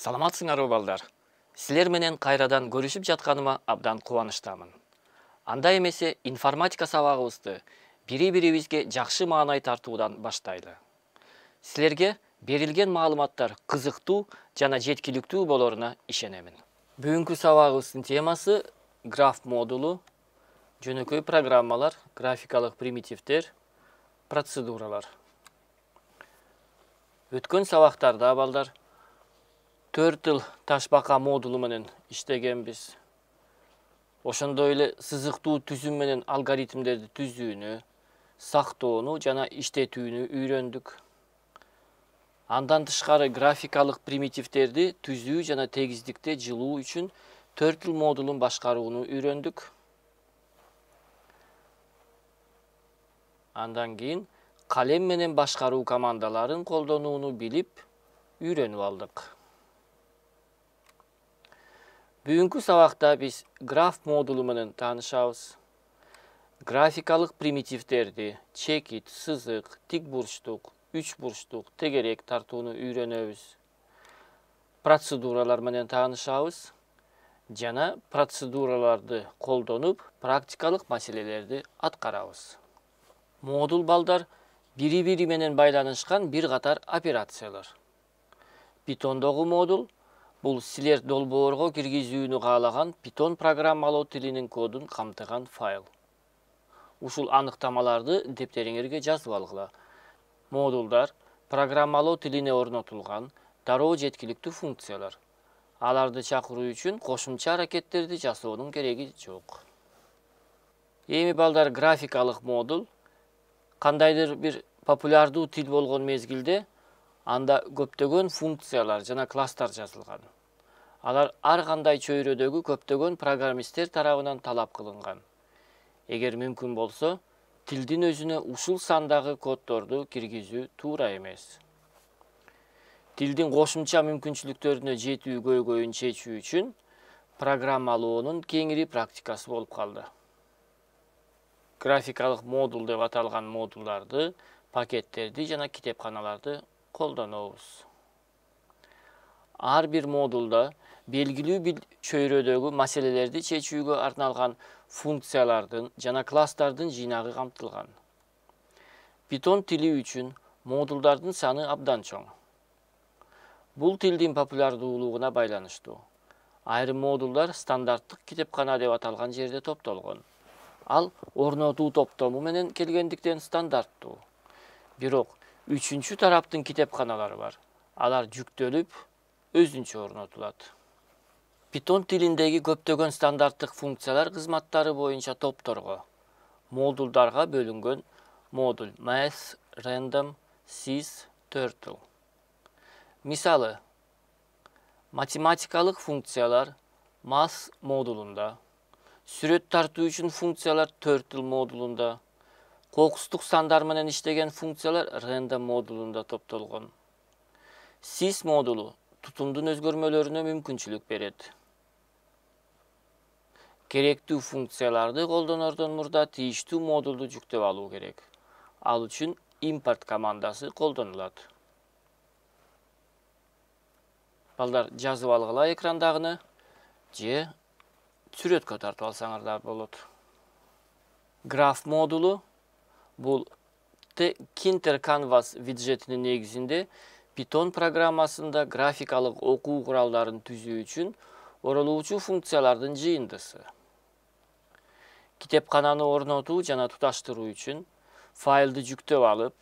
Саламатсыңарбы балдар? Силер менен кайрадан көрүшүп жатканыма абдан кубанычтамын. Анда эмесе информатика сабагыбызды бири-бирибизге жакшы маанай тартуудан баштайлы. Силерге берилген маалыматтар кызыктуу жана жеткиликтүү болоруна ишенемин. Бүгүнкү сабагыбыздын темасы граф модулу, жөнөкөй программалар, графикалык примитивдер, процедуралар. Өткөн сабактарда балдар Turtle ташбака модулу менен иштегенбиз. Ошондой эле сызыктуу түзүм менен алгоритмдерди түзүүнү, сактоону жана иштетүүнү үйрөндүк. Андан тышкары графикалык примитивдерди түзүү жана тегиздикте жылуу үчүн Turtle модулун башкарууну үйрөндүк. Андан кийин калем менен башкаруу командаларын колдонууну билип үйрөнүп алдык. Бүгүнкү сабакта биз граф модулу менен таанышабыз. Графикалык примитивдерди чекит, сызык, тик бурчтук, үч бурчтук, тегерек тартууну үйрөнөбүз. Процедуралар менен таанышабыз жана процедураларды колдонуп практикалык маселелерди аткарабыз. Модул балдар бири-бири менен байланышкан бир катар операциялар. Питондогу модул бул силер долбоорго киргизүүнү каалаган Python программалоо тилинин кодун камтыган файл. Ушул аныктамаларды дептериңерге жазып алгыла. Модулдар программалоо тилине орнотулган дароо жеткиликтүү функциялар. Аларды чакыруу үчүн кошумча аракеттерди жасоонун кереги жок. Эми балдар графикалык модул кандайдыр бир популярдуу тил болгон мезгилде анда көптөгөн функциялар жана класстар жазылган. Алар ар кандай чөйрөдөгү көптөгөн программисттер тарабынан талап кылынган. Эгер мүмкүн болсо, тилдин өзүнө ушул сандагы коддорду киргизүү туура эмес. Тилдин кошумча мүмкүнчүлүктөрүнө жетүү көйгөйүн чечүү үчүн программалоонун кеңири практикасы болуп калды. Графикалык модул деп аталган модулдарды, пакеттерди жана китепканаларды колдонобуз. Ар бир модулда белгилүү бир чөйрөдөгү маселелерди чечүүгө арналган функциялардын жана класстардын жыйнагы камтылган. Python тили үчүн модулдардын саны абдан чоң. Бул тилдин популярдуулугуна байланыштуу. Айрым модулдар стандарттык китепкана деп аталган жерде топтолгон. Ал орнотуу топтому менен келгендиктен стандарттуу. Бирок үчүнчү тараптын китепканалары бар. Алар жүктөлүп, өзүнчө орнотулат. Python тилиндеги көптөгөн стандарттык функциялар кызматтары боюнча топторго, модулдарга бөлүнгөн модуль Math, Random, Sys, Turtle. Мисалы, математикалык функциялар Math модулунда, сүрөт тартуу үчүн функциялар Turtle модулунда, кокустук сандар менен иштеген функциялар Random модулунда топтолгон. Sys модулу тутумдун өзгөрмөлөрүнө мүмкүнчүлүк берет. Керектүү функцияларды колдонордон мурда тийиштүү модулду жүктөп алуу керек. Ал үчүн import командасы колдонулат. Балдар жазып алгыла экрандагыны же сүрөткө тартып алсаңар да болот. Граф модулу бул Kinter Canvas виджетинин негизинде Python программасында графикалык окуу куралдарын түзүү үчүн оролуучу функциялардын жыйындысы. Китепкананы орнотуу жана туташтыруу үчүн файлды жүктөп алып,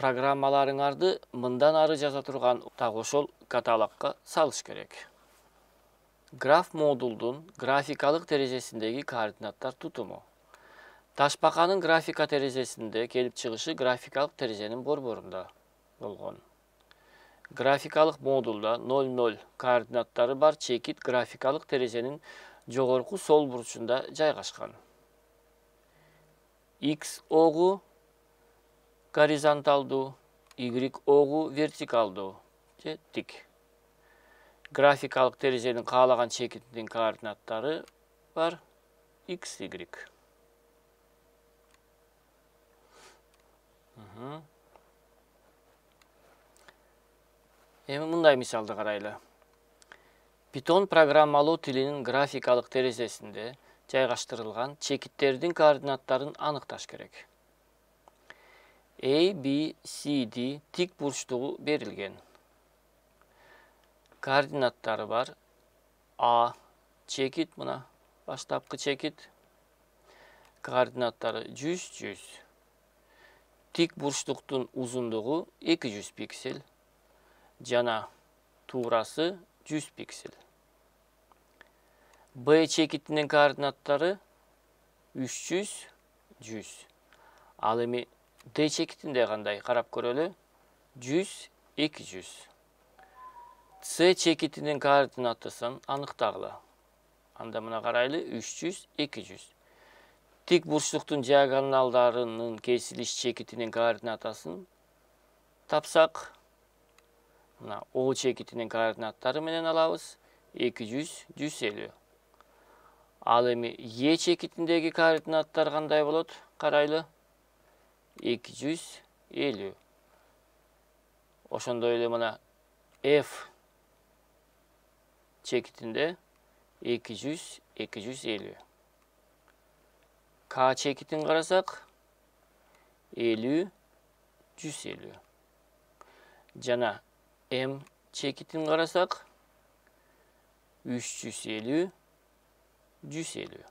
программаларыңарды мындан ары жаза турган так ошол каталогко салыш керек. Граф модулдун графикалык терезесиндеги координаттар тутуму. Ташбаканын графика терезесинде келип чыгышы графикалык терезенин борборунда болгон. Графикалык модулда 00 координаттары бар чекит графикалык терезенин жогорку сол бурчунда жайгашкан. X огу горизонталдуу, Y огу вертикалдуу же тик. Графикалык терезенин каалаган чекитинин координаттары бар X, Y. Эми мындай мисалды карайлы. Python программалоо тилинин графикалык терезесинде жайгаштырылган чекиттердин координаттарын аныкташ керек. A, B, C, D тик бурчтугу берилген. Координаттары бар. A чекит, мына баштапкы чекит. Координаттары 100. Тик бурчтуктун узундугу 200 пиксель. Жана туурасы 100 пиксель. B чекитинин координаттары 300, 100. Ал эми D чекитинде кандай карап көрөлү? 100, 200. C чекитинин координатысын аныктагыла. Анда мына карайлы 300, 200. Тик бурчтуктун диагоналдарынын кесилиш чекитинин координатасын тапсак, мына O чекитинин координаттары менен алабыз 200, 150. Ал эми E чекитиндеги координаттар кандай болот? Карайлы 250. Ошондой эле мына F чекитинде 200, 250. K чекитин карасак 50, 150. Жана M чекитин карасак 350, 150.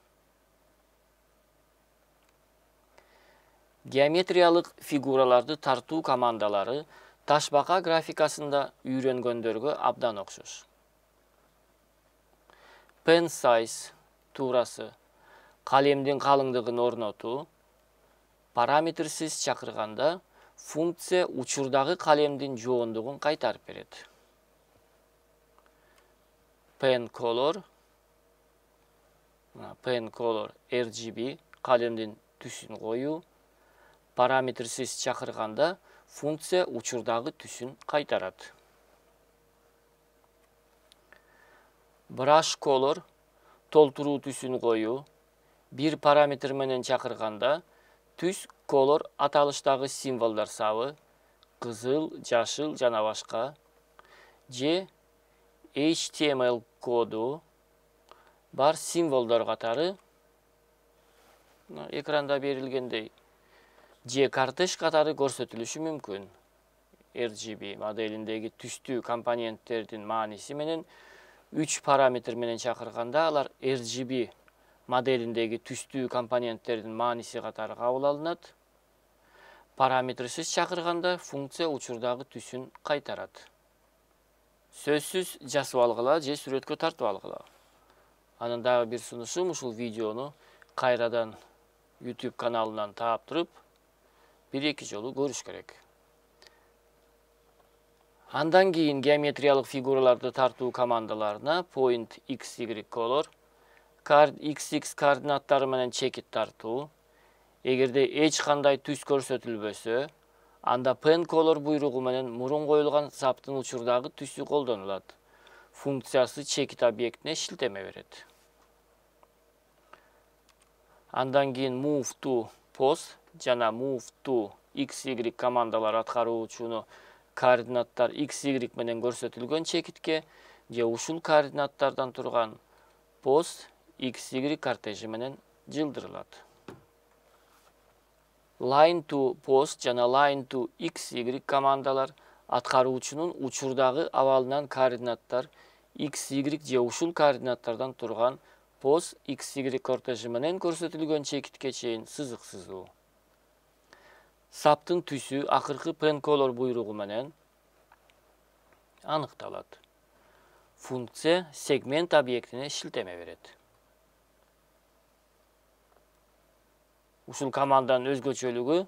Геометриялык фигураларды тартуу командалары ташбака графикасында үйрөнгөндөргө абдан окшош. Pen size туурасы калемдин калыңдыгын орнотуу, параметрсиз чакырганда функция учурдагы калемдин жоондугун кайтарып берет. Pen color RGB калемдин түсүн коюу, параметрсиз чакырганда функция учурдагы түсүн кайтарат. Brush color толтуруу түсүн коюу, бир параметр менен чакырганда түс color аталыштагы символдор сабы, кызыл, жашыл жана башка, же HTML коду бар символдор катары экранда берилгендей, же кортеж катары көрсөтүлүшү мүмкүн. RGB моделиндеги түстүү компоненттердин мааниси менен 3 параметр менен чакырганда алар RGB моделиндеги түстүү компоненттердин мааниси катары кабыл алынат. Параметрсиз чакырганда функция учурдагы түсүн кайтарат. Сөзсүз жазып алгыла же сүрөткө тартып алгыла. Анын дагы бир сунушум ушул видеону кайрадан YouTube каналынан таап туруп, 1-2 жолу көрүш керек. Андан кийин геометриялык фигураларды тартуу командаларына point xy color, xx координаттары менен чекит тартуу. Эгерде эч кандай түс көрсөтүлбөсө, анда pen color буйругу менен мурун коюлган саптын учурдагы түсү колдонулат. Функциясы чекит объектине шилтеме берет. Андан кийин move to pose жана move to xy командалары аткаруучуну координаттар xy менен көрсөтүлгөн чекитке же ушул координаттардан турган pose xy кортежи менен жылдырылат. Line to pose жана line to xy командалар аткаруучунун учурдагы абалынан координаттар xy же ушул координаттардан турган pose xy кортежи менен көрсөтүлгөн чекитке чейин сызык сызуу. Саптын түсү акыркы pen color буйругу менен аныкталат. Функция сегмент объектине шилтеме берет. Ушул команданын өзгөчөлүгү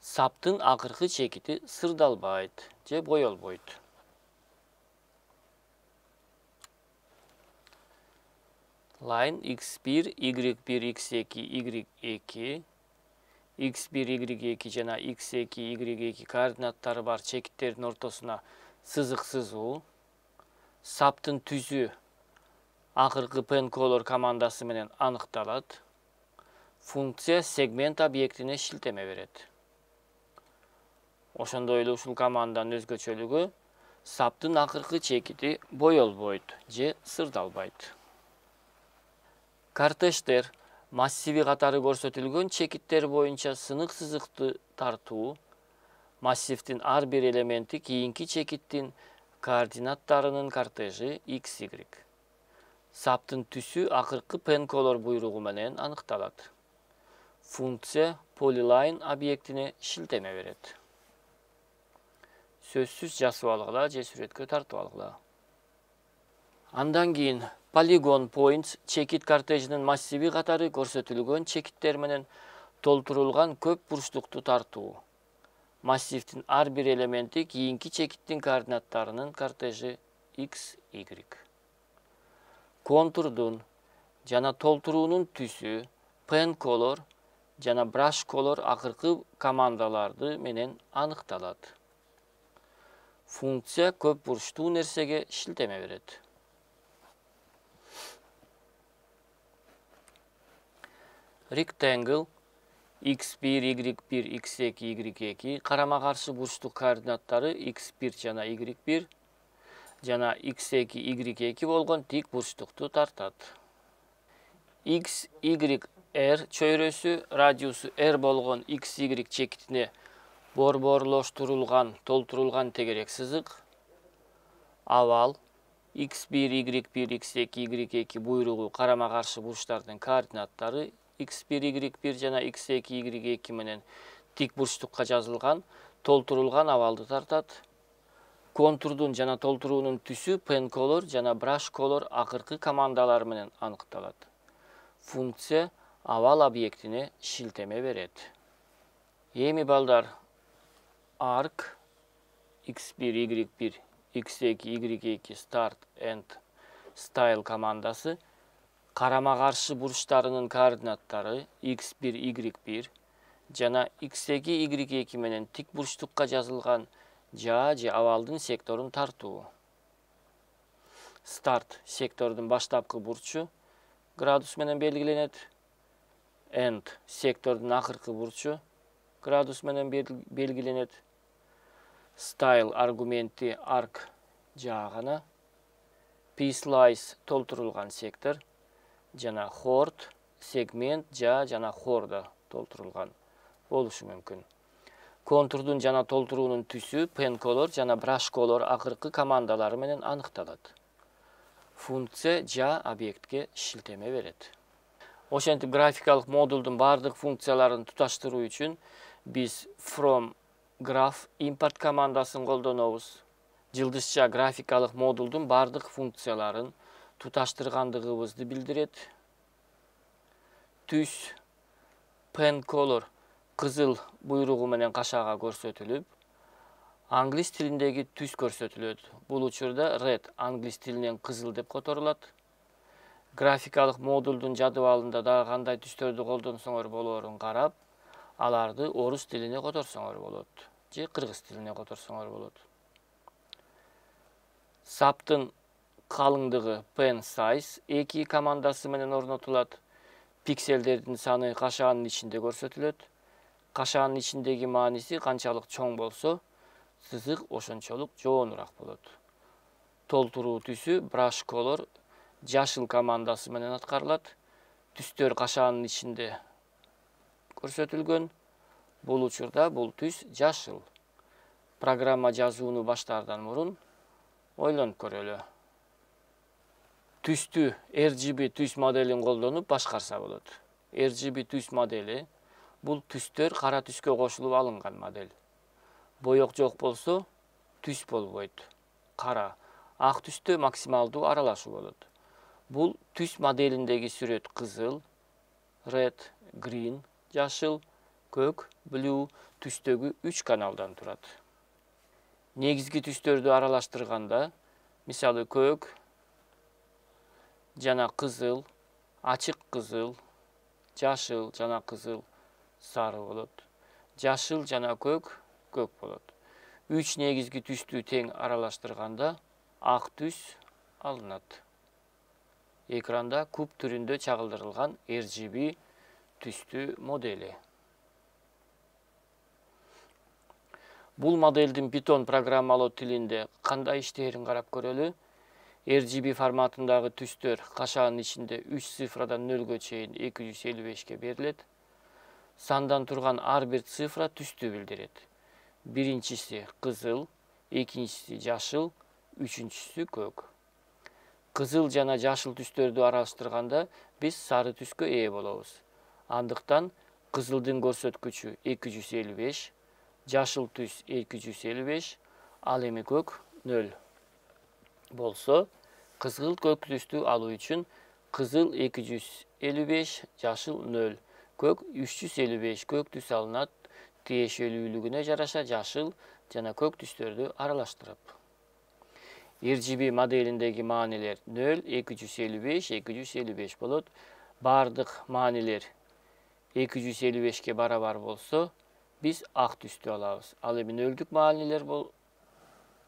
саптын акыркы чекити сырдалбайт же боелбойт. Line x1, y1, x2, y2, x1, y2 жана x2, y2 координаттары бар чекиттердин ортосуна сызык сызуу. Саптын түсү акыркы pen color командасы менен аныкталат. Функция сегмент объектине шилтеме берет. Ошондой эле ушул команданын өзгөчөлүгү Саптын акыркы чекити боелбойт же сырдалбайт. Кортеждер массиви катары көрсөтүлгөн чекиттер боюнча сынык сызыкты тартуу, массивдин ар бир элементи кийинки чекиттин координаттарынын кортежи XY. Саптын түсү акыркы пенколор буйругу менен аныкталат. Функция polyline объектине шилтеме берет. Сөзсүз жазып алгыла же сүрөткө тартып алгыла. Андан кийин polygon points чекит кортежинин массиви катары көрсөтүлгөн чекиттер менен толтурулган көп бурчтукту тартуу. Массивдин ар бир элементи кийинки чекиттин координаттарынын кортежи XY. Контурдун жана толтуруунун түсү pen color жана brush color акыркы командаларды менен аныкталат. Функция көп бурчтуу нерсеге шилтеме берет. Rectangle x1, y1, x2, y2 карама-каршы бурчтук координаттары x1 жана y1 жана x2, y2 болгон тик бурчтукту тартат. X, y, r чөйрөсү радиусу r болгон XY чекитине борборлоштурулган, толтурулган тегерек сызык. Авал x1, y1, x2, y2 буйругу карама-каршы бурчтардын координаттары x1, y1 жана x2, y2 менен тик бурчтукка жазылган, толтурулган авалды тартат. Контурдун жана толтуруунун түсү pen color жана brush color акыркы командалары менен аныкталат. Функция авал объектине шилтеме берет. Эми балдар, arc x1, y1, x2, y2 start and style командасы карама-каршы бурчтарынын координаттары x1, y1 жана x2, y2 менен тик бурчтукка жазылган жаа же авалдын секторун тартуу. Start сектордун баштапкы бурчу градус менен белгиленет. End сектордун акыркы бурчу градус менен белгиленет. Style аргументи arc жаа гана. Piecewise толтурулган сектор жана chord сегмент жаа жана хордо толтурулган болушу мүмкүн. Контурдун жана толтуруунун түсү pen color жана brush color акыркы командалары менен аныкталат. Функция жаа объектке шилтеме берет. Ошентип графикалык модулдун бардык функцияларын туташтыруу үчүн биз from graph import командасын колдонобуз. Жылдызча графикалык модулдун бардык функцияларын туташтыргандыгыбызды билдирет. Түс pen color кызыл буйругу менен кашаага көрсөтүлүп, англис тилиндеги түс көрсөтүлөт. Бул учурда red англис тилинен кызыл деп которулат. Графикалык модулдун жадыбалында дагы кандай түстөрдү колдонсоңор болоорун карап, аларды орус тилине которсоңор болот же кыргыз тилине которсоңор болот. Саптын калыңдыгы pen size 2 командасы менен орнотулат. Пикселдердин саны кашаанын ичинде көрсөтүлөт. Кашаанын ичиндеги мааниси канчалык чоң болсо, сызык ошончолук жоонураак болот. Толтуруу түсү brush color жашыл командасы менен аткарылат. Түстөр кашаанын ичинде көрсөтүлгөн. Бул учурда бул түс жашыл. Программа жазууну баштаардан мурун ойлонуп көрөлү. Түстү RGB түс моделин колдонуп башкарса болот. RGB түс модели бул түстөр кара түскө кошулуп алынган модель. Боек жок болсо түс болбойт. Кара, ак түстө максималдуу аралашуу болот. Бул түс моделиндеги сүрөт кызыл, red, green, жашыл, көк, blue түстөгү 3 каналдан турат. Негизги түстөрдү аралаштырганда, мисалы көк жана кызыл, ачык кызыл, жашыл жана кызыл сары болот. Жашыл жана көк болот. 3 негизги түстү тең аралаштырганда ак түс алынат. Экранда куб түрүндө чагылдырылган RGB түстүү модели. Бул моделдин Python программалоо тилинде кандай иштээрин карап көрөлү. RGB форматындагы түстөр кашаанын ичинде 3 цифрадан 0-гө чейин 255 берилет. Сандан турган ар бир цифра түстү билдирет. Биринчиси кызыл, экинчиси жашыл, үчүнчүсү көк. Кызыл жана жашыл түстөрдү аралаштырганда биз сары түскө ээ болобуз. Андыктан кызылдын көрсөткүчү 255, жашыл түс 255, ал эми көк 0 болсо, кызыл көк түстү алуу үчүн кызыл 255, жашыл 0, көк 355 көк түс алынат. Тиешелүүлүгүнө жараша жашыл жана көк түстөрдү аралаштырып. RGB моделиндеги маанилер 0, 255, 255 болот. Бардык маанилер 255ке барабар болсо, биз ак түстү алабыз. Ал эми 0-дүк маанилер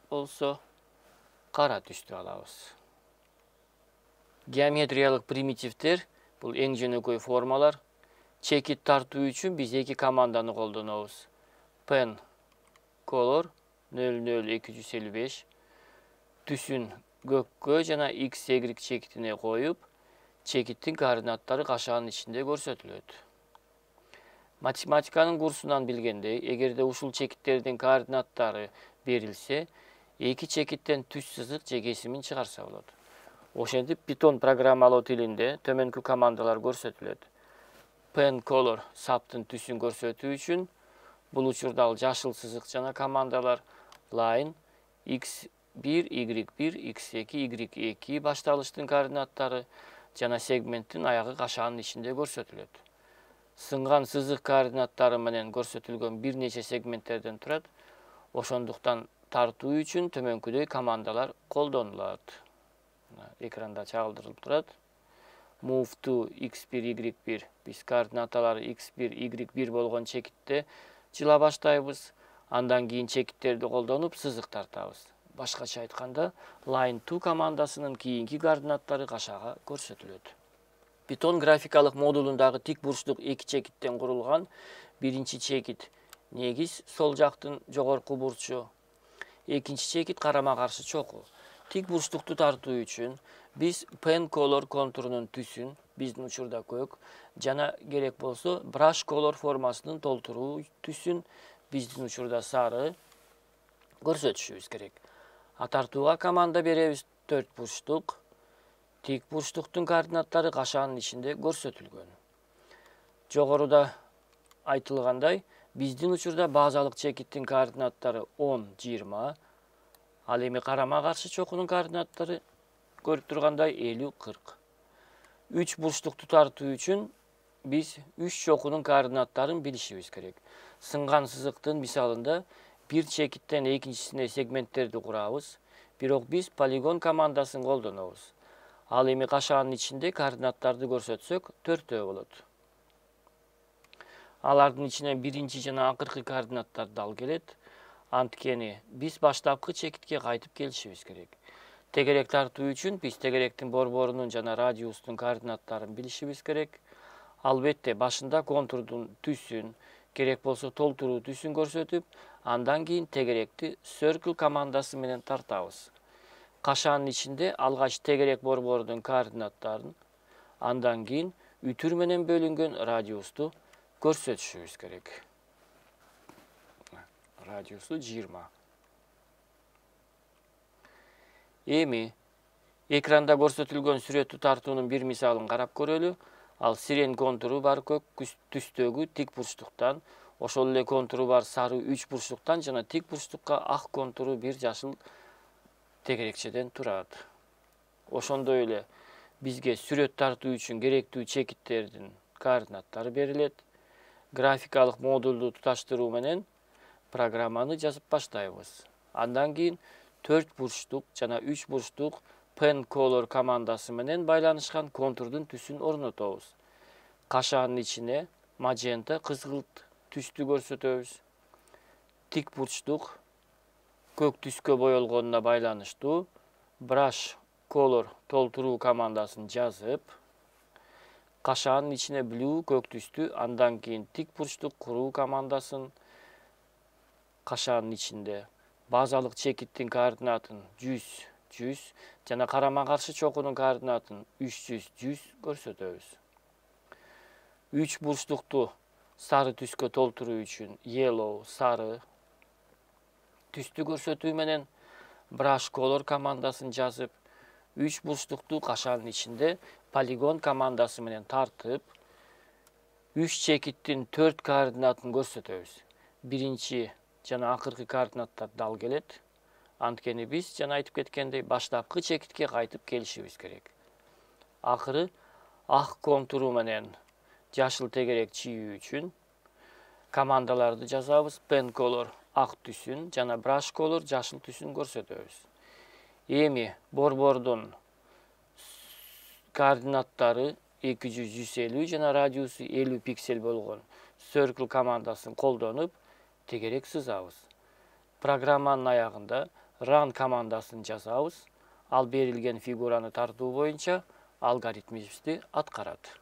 болсо, кара түстү алабыз. Геометриялык примитивдер бул эң жөнөкөй формалар. Чекит тартуу үчүн биз эки команданы колдонобуз. Pen color 00255 түсүн көккө жана x, y чекитине коюп, чекиттин координаттары кашаанын ичинде көрсөтүлөт. Математиканын курсунан билгендей, эгерде ушул чекиттердин координаттары берилсе, эки чекиттен түс сызык же кесимин чыгарса болот. Ошентип Python программалоо тилинде төмөнкү командалар көрсөтүлөт. Pen color саптын түсүн көрсөтүү үчүн бул учурда ал жашыл сызык жана командалар line x1, y1, x2, y2 башталыштын координаттары жана сегменттин аягы кашаанын ичинде көрсөтүлөт. Сынган сызык координаттары менен көрсөтүлгөн бир нече сегменттерден турат. Ошондуктан тартуу үчүн төмөнкүдөй командалар колдонулат. Экранда чагылдырылып турат. Move to x1, y1. Биз координаталары x1, y1 болгон чекитте жыла баштайбыз. Андан кийин чекиттерди колдонуп сызык тартабыз. Башкача айтканда, line to командасынын кийинки координаттары кашаага көрсөтүлөт. Python графикалык модулундагы тик бурчтук эки чекиттен курулган. Биринчи чекит негиз сол жактын жогорку бурчу. Экинчи чекит карама-каршы чокуу. Тик бурчтукту тартуу үчүн биз pen color контурунун түсүн, биздин учурда көк, жана керек болсо brush color формасынын толтуруу түсүн, биздин учурда сары көрсөтүшүбүз керек. Тартууга команда беребиз 4 бурчтук. Тик бурчтуктун координаттары кашаанын ичинде көрсөтүлгөн. Жогоруда айтылгандай, биздин учурда базалык чекиттин координаттары 10, 20. Ал эми карама-каршы чокунун координаттары көрүп тургандай 50, 40. 3 бурчтукту тартуу үчүн биз 3 чокунун координаттарын билишибиз керек. Сынган сызыктын мисалында бир чекиттен экинчисине сегменттерди курабыз, бирок биз полигон командасын колдонобуз. Ал эми кашаанын ичинде координаттарды көрсөтсөк, 4 болот. Алардын ичинен биринчи жана акыркы координаттарды ал келет. Анткени биз баштапкы чекитке кайтып келишибиз керек. Тегерек тартуу үчүн биз тегеректин борборунун жана радиустун координаттарын билишибиз керек. Албетте башында контурдун түсүн, керек болсо толтуруу түсүн көрсөтүп, андан кийин тегеректи circle командасы менен тартабыз. Кашаанын ичинде алгач тегерек борборунун координаттарын, андан кийин үтүр менен бөлүнгөн радиусту көрсөтүшүбүз керек. Радиусу 20. Эми экранда көрсөтүлгөн сүрөттү тартуунун бир мисалын карап көрөлү. Ал сирен контуру бар көк түстөгү тик бурчтуктан, ошол эле контуру бар сары 3 бурчтуктан жана тик бурчтукка ак контуру бир жашыл тегерекчеден турат. Ошондой эле бизге сүрөт тартуу үчүн керектүү чекиттердин координаттары берилет. Графикалык модулду туташтыруу менен программаны жазып баштайбыз. Андан кийин 4 бурчтук жана 3 бурчтук pen color командасы менен байланышкан контурдун түсүн орнотобуз. Кашаанын ичине magenta кызгылт түстү көрсөтөбүз. Тик бурчтук көк түскө боелгонуна байланыштуу brush color толтуруу командасын жазып, кашаанын ичине blue көк түстү, андан кийин тик бурчтук куруу командасын кашаанын ичинде базалык чекиттин координатын 100 жана карама каршы чокунун координатын 300 көрсөтөбүз. 3 бурчтукту сары түскө толтуруу үчүн yellow сары түстү көрсөтүү менен brush color командасын жазып, 3 бурчтукту кашаанын ичинде полигон командасы менен тартып, 3 чекиттин 4 координатын көрсөтөбүз. Биринчи жана акыркы координаттар дал келет. Анткени биз жана айтып кеткендей баштапкы чекитке кайтып келишибиз керек. Акыры ак контуру менен жашыл тегерек чийүү үчүн командаларды жазабыз. Pen color ак түсүн жана brush color жашыл түсүн көрсөтөбүз. Эми борбордун координаттары 200-150 жана радиусу 50 пиксель болгон circle командасын колдонуп тегерек сызабыз. Программанын аягында run командасын жазабыз. Ал берилген фигураны тартуу боюнча алгоритмибизди аткарат.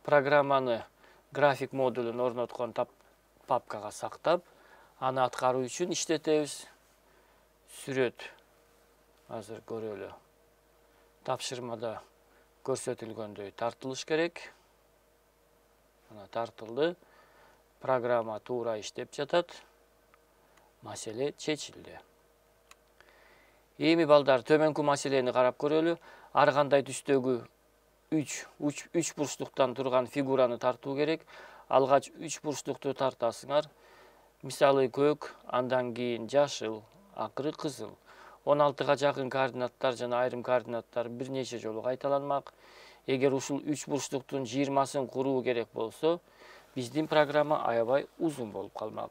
Программаны график модулун орноткон папкага сактап, аны аткаруу үчүн иштетебиз. Сүрөт азыр көрөлү. Тапшырмада көрсөтүлгөндөй тартылыш керек. Мына тартылды. Программа туура иштеп жатат. Маселе чечилди. Эми балдар төмөнкү маселени карап көрөлү. Ар кандай түстөгү 3 бурчтуктан турган фигураны тартуу керек. Алгач 3 бурчтукту тартасыңар. Мисалы көк, андан кийин жашыл, акыры кызыл. 16га жакын координаттар жана айрым координаттар бир нече жолу кайталанмак. Эгер ушул 3 бурчтуктун 20сын куруу керек болсо, биздин программа аябай узун болуп калмак.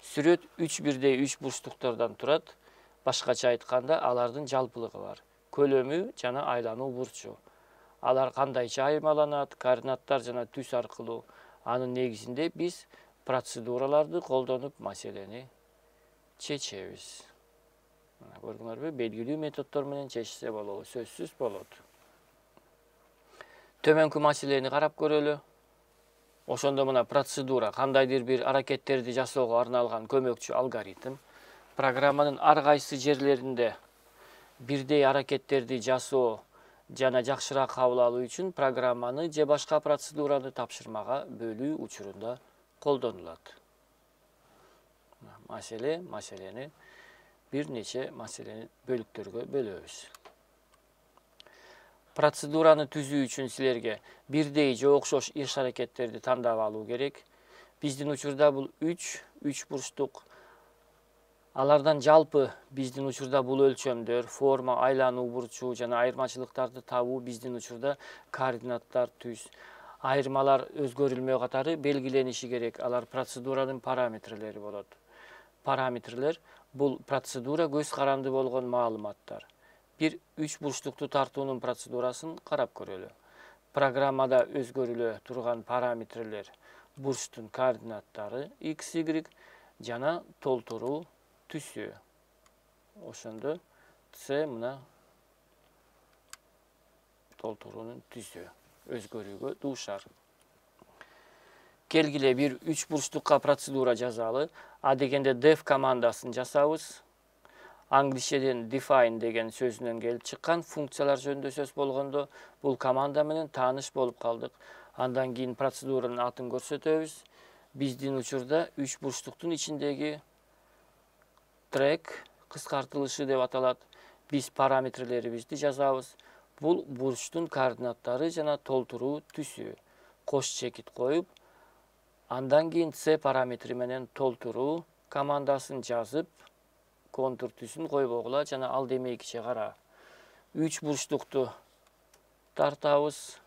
Сүрөт 3 бирдей 3 бурчтуктардан турат. Башкача айтканда, алардын жалпылыгы бар. Көлөмү жана айлануу бурчу. Алар кандайча айырмаланат, координаттар жана түс аркылуу. Анын негизинде биз процедураларды колдонуп маселени чечебиз. Мына көрдүңөрбү? Белгилүү методдор менен чечсе болобу, сөзсүз болот. Төмөнкү маселени карап көрөлү. Ошондо мына процедура кандайдыр бир аракеттерди жасоого арналган көмөкчү алгоритм. Программанын ар кайсы жерлеринде бирдей аракеттерди жасоо жана жакшыраак кабыл алуу үчүн программаны же башка процедураны тапшырмага бөлүү учурунда колдонулат. Маселени бир нече маселени бөлүктөргө бөлөбүз. Процедураны түзүү үчүн силерге бирдей же окшош иш аракеттерди тандап алуу керек. Биздин учурда бул 3 бурчтук. Алардан жалпы биздин учурда бул өлчөмдөр, форма, айлануу бурчу жана айырмачылыктарды табуу биздин учурда координаттар, түс, айырмалар өзгөрүлмөө катары белгилениши керек. Алар процедуранын параметрлери болот. Параметрлер бул процедура көз каранды болгон маалыматтар. Бир 3 бурчтукту тартуунун процедурасын карап көрөлү. Программада өзгөрүлө турган параметрлер бурчтун координаттары x, y жана толтуруу түсү. Ошондо C мына толтуруунун түсү өзгөрүүгө дуушар. Келгиле бир 3 бурчтукка процедура жазалы. А дегенде def командасын жасабыз. Англишеден define деген сөзүнөн келип чыккан функциялар жөнүндө сөз болгондо бул команда менен тааныш болуп калдык. Андан кийин процедуранын атын көрсөтөбүз. Биздин учурда 3 бурчтуктун ичиндеги track кыскартылышы деп аталат. Биз параметрлерибизди жазабыз. Бул бурчтун координаттары жана толтуруу түсү. Кош чекит коюп, андан кийин C параметри менен толтуруу командасын жазып, контур түсүн койбогула жана ал демейкиче кара. 3 бурчтукту тартабыз.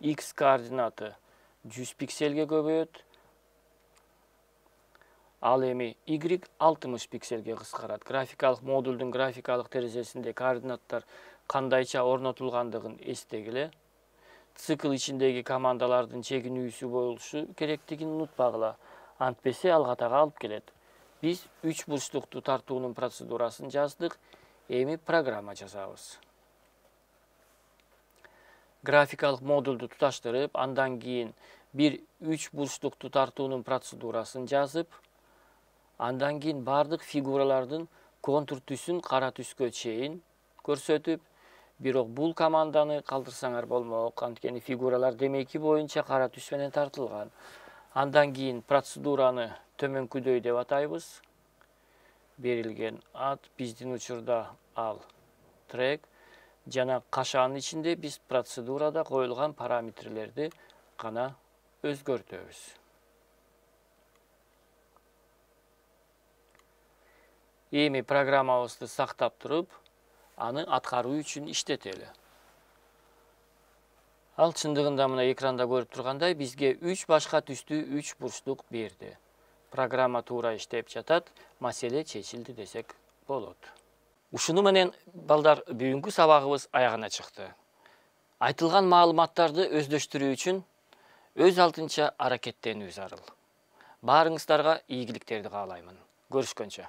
X координаты 100 пикселге көбөйөт. Ал эми Y 60 пикселге кыскарат. Графикалык модулдун графикалык терезесинде координаттар кандайча орнотулгандыгын эстегиле. Цикл ичиндеги командалардын чегинүүсү болушу керектигин унутпагыла. Антпесе ал катага алып келет. Биз 3 бурчтукту тартуунун процедурасын жаздык. Эми программа жазабыз. Графикалык модулду туташтырып, андан кийин бир 3 бурчтукту тартуунун процедурасын жазып, андан кийин бардык фигуралардын контур түсүн кара түскө чейин көрсөтүп, бирок бул команданы калтырсаңар болмок, анткени фигуралар демейки боюнча кара түс менен тартылган. Андан кийин процедураны төмөнкүдөй деп атайбыз. Берилген ат, биздин учурда ал трек, жана кашаанын ичинде биз процедурада коюлган параметрлерди гана өзгөртөбүз. Эми программабызды сактап туруп, аны аткаруу үчүн иштетели. Ал чындыгында мына экранда көрүп тургандай, бизге 3 башка түстүү 3 бурчтук берди. Программа туура иштеп жатат, маселе чечилди десек болот. Ушуну менен балдар бүгүнкү сабагыбыз аягына чыкты. Айтылган маалыматтарды өздөштүрүү үчүн өз алдынча аракеттенүү зарыл. Баарыңыздарга ийгиликтерди каалаймын. Көрүшкөнчө.